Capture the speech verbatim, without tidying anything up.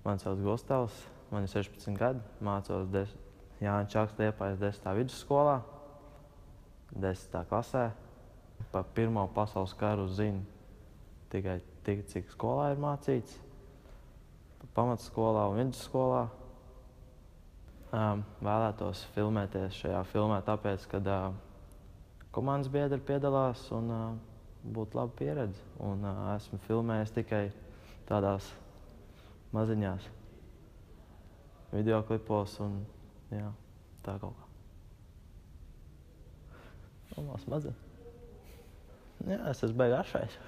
Mani sauc Gustavs, man ir sešpadsmit gadi, mācos des... Jāņa Čakste Liepājas desmitā vidusskolā, desmitā klasē. Par Pirmo pasaules karu zinu tikai tik, cik skolā ir mācīts. Pamatskolā un vidusskolā. Um, vēlētos filmēties šajā filmā tāpēc, ka uh, komandas biedri piedalās un uh, būtu laba pieredze. Un uh, esmu filmējis tikai tādās maziņās videoklipos un jā, tā kaut kā. Normāls mazliet. Jā, es esmu beigās šais.